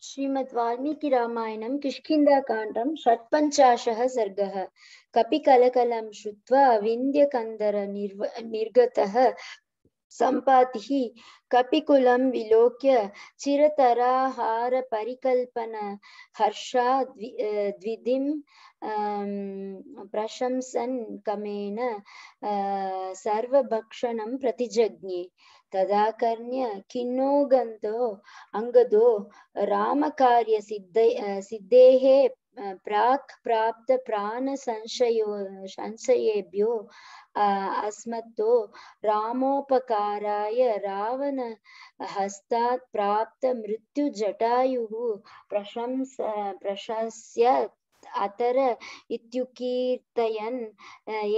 श्रीमद् वाल्मीकि रामायणं किष्किन्धाकाण्डं षट्पञ्चाशः सर्गः। कपिकलकलं श्रुत्वा विन्ध्यकन्दर निर्गतः सम्पातिः कपिकुलं विलोक्य चिरतराहारपरिकल्पन हर्षाद् द्विधिं प्रशंसन् कमेन सर्वभक्षणं प्रतिजज्ञे। तदा कर्ण्य खिन्नो अङ्गदो रामकार्यसिद्धेः प्राक् प्राप्त संशयेभ्यो अस्मत्तो रामोपकाराय रावण हस्तात् प्राप्त मृत्युजटायुः प्रशंस्य अतर इत्युकीर्तयन्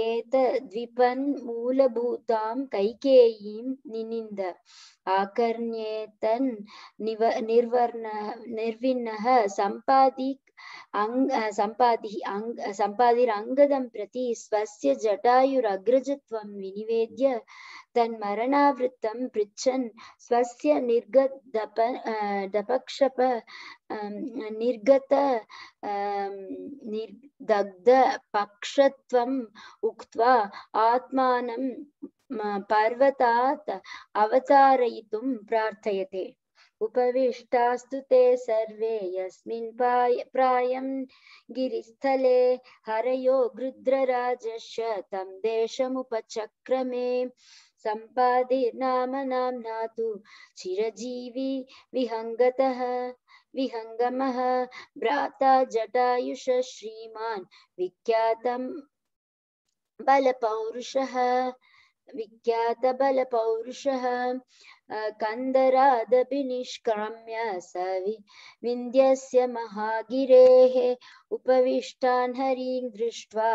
एतद्विपन् मूलभूतां कैकेयीं निनिन्द। आकर्ण्येतन् निर्विन्नः सम्पादिरङ्गदं प्रति स्वस्य जटायुरग्रजत्वं विनिवेद्य तन्मरणावृत्तं पृच्छन् स्वस्य निर्दग्धपक्षत्वम् उक्त्वा आत्मानं पर्वतात् अवतारयितुं प्रार्थयते। उपविष्टास्तु ते सर्वे यस्मिन् प्रायं गिरिस्थले हरयो गृध्रराजस्य तं देशमुपचक्रमे। सम्पादिर्नाम नाम्ना तु चिरजीवी विहङ्गमः भ्राता जटायुष श्रीमान् विख्यातं बलपौरुषः कन्दरादभिनिष्क्रम्य स विन्ध्यस्य महागिरेः उपविष्टान् हरिं दृष्ट्वा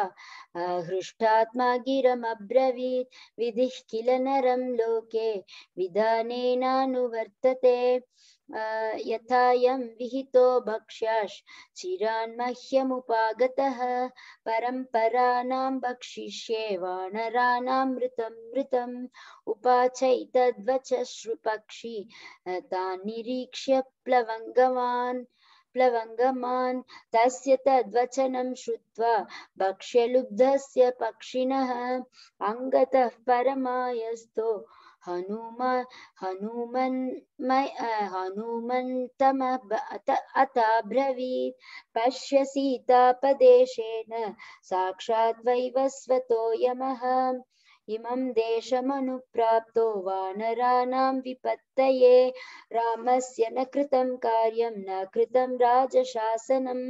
हृष्टात्मा गिरमब्रवीत् विधिः किल नरं लोके विधानेनानुवर्तते यथायं विहितो भक्ष्याश् चिरान्मह्यमुपागतः परम्पराणां भक्षिष्ये वानराणां मृतम् उपाचैतद्वच श्रुपक्षी तान् निरीक्ष्य प्लवङ्गमान् तस्य तद्वचनं श्रुत्वा भक्ष्यलुब्धस्य पक्षिणः अङ्गतः परमायस्तो हनुमन्तमब्रवीत् पश्य सीतापदेशेन साक्षात् वैवस्वतो यमः इमं देशमनुप्राप्तो वानराणां विपत्तये रामस्य न कृतं कार्यं न कृतं राजशासनं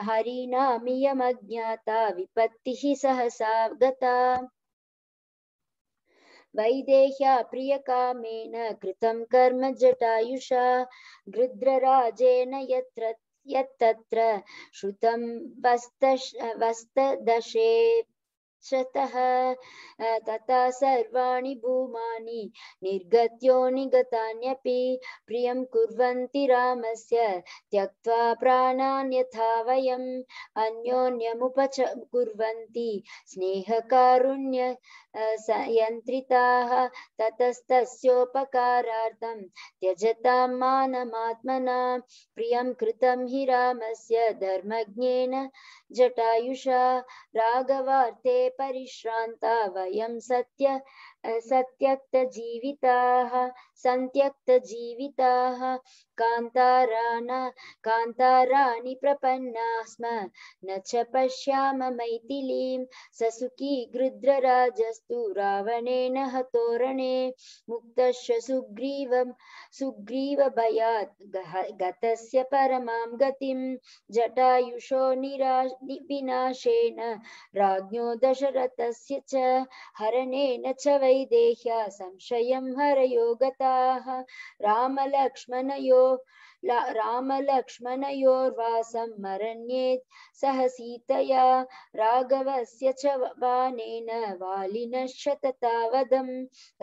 हरिणामियमज्ञाता विपत्तिः सहसा गता। वैदेह्या प्रियकामेन कृतं कर्म जटायुषा गृध्रराजेन यत्तत्र श्रुतं वस्तदशे तथा सर्वाणि भूमानि निर्गत्यो निगतान्यपि प्रियं कुर्वन्ति रामस्य त्यक्त्वा प्राणान् यथा वयम् अन्योन्यमुपकुर्वन्ति स्नेहकारुण्य यन्त्रिताः ततस्तस्योपकारार्थं त्यजतां मानमात्मना प्रियं कृतं हि रामस्य धर्मज्ञेन जटायुषा राघवार्थे परिश्रान्ता वयं सन्त्यक्तजीविताः कान्ताराणि प्रपन्ना स्म न च पश्याम मैथिलीं ससुखी गृध्रराजस्तु रावणेन हतोरणे मुक्तस्य सुग्रीवभयात् गतस्य परमां गतिं जटायुषो विनाशेन राज्ञो दशरथस्य च हरणेन च वैदेह्या संशयं हरयो गताः रामलक्ष्मणयोर्वासं मरण्येत् सह सीतया राघवस्य च बाणेन वालिनश्च तथा वधं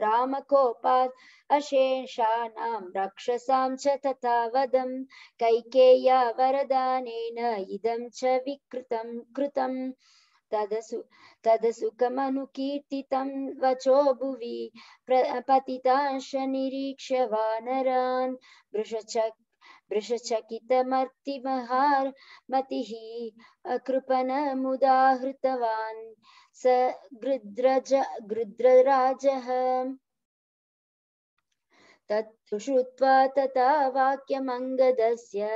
रामकोपात् अशेषाणां रक्षसां च तथा वधं कैकेय्या वरदानेन इदं च कृतम् तदसुखमनुकीर्तितं वचो भुवि पतितांश निरीक्ष्य वानरान् वृषचकितमर्तिमहार मतिः कृपणमुदाहृतवान् स गृध्रराजः तत्तु श्रुत्वा तथा वाक्यमङ्गदस्य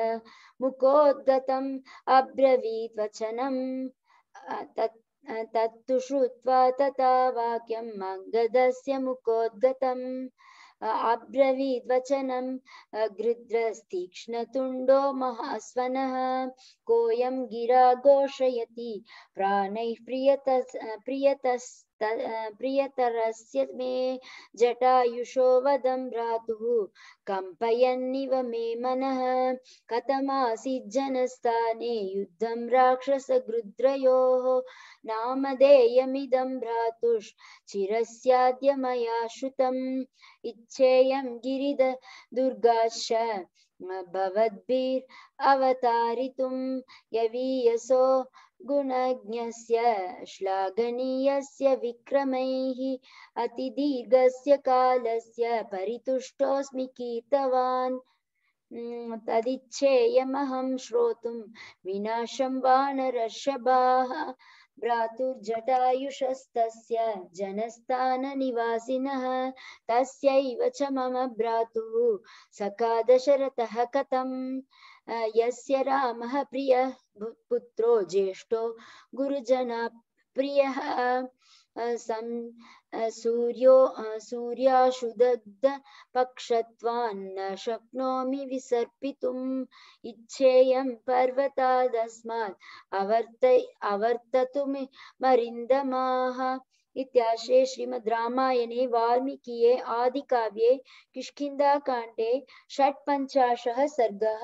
मुखोद्गतम् अब्रवीत् वचनम् तत्तु श्रुत्वा तथा वाक्यम् अङ्गदस्य मुखोद्गतम् अब्रवीत् वचनम् गृध्रस्तीक्ष्णतुण्डो महास्वनः कोऽयं गिरा घोषयति प्राणैः प्रियतरस्य मे जटायुषो वदं भ्रातुः कम्पयन्निव मे मनः कथमासीत् जनस्थाने युद्धं राक्षसगृध्रयोः नामधेयमिदं भ्रातुश्चिरस्याद्य मया श्रुतम् इच्छेयं गिरिदुर्गाश्च भवद्भिरवतारितुं यवीयसो गुणज्ञस्य श्लाघनीयस्य विक्रमैः अतिदीर्घस्य कालस्य परितुष्टोऽस्मि कीर्तवान् तदिच्छेयमहं श्रोतुं विनाशं वानरर्षभाः भ्रातुर्जटायुषस्तस्य जनस्थाननिवासिनः तस्यैव च मम भ्रातुः सखा दशरथः कथम् यस्य रामः प्रियः पुत्रो ज्येष्ठो गुरुजना प्रियः सूर्याशुदग्ध पक्षत्वान्न शक्नोमि विसर्पितुम् इच्छेयं पर्वतादस्मात् अवर्ततुमरिन्दमाः इत्याश्रे श्रीमद् रामायणे वाल्मीकिये आदिकाव्ये किष्किन्धाकाण्डे षट्पञ्चाशः सर्गः।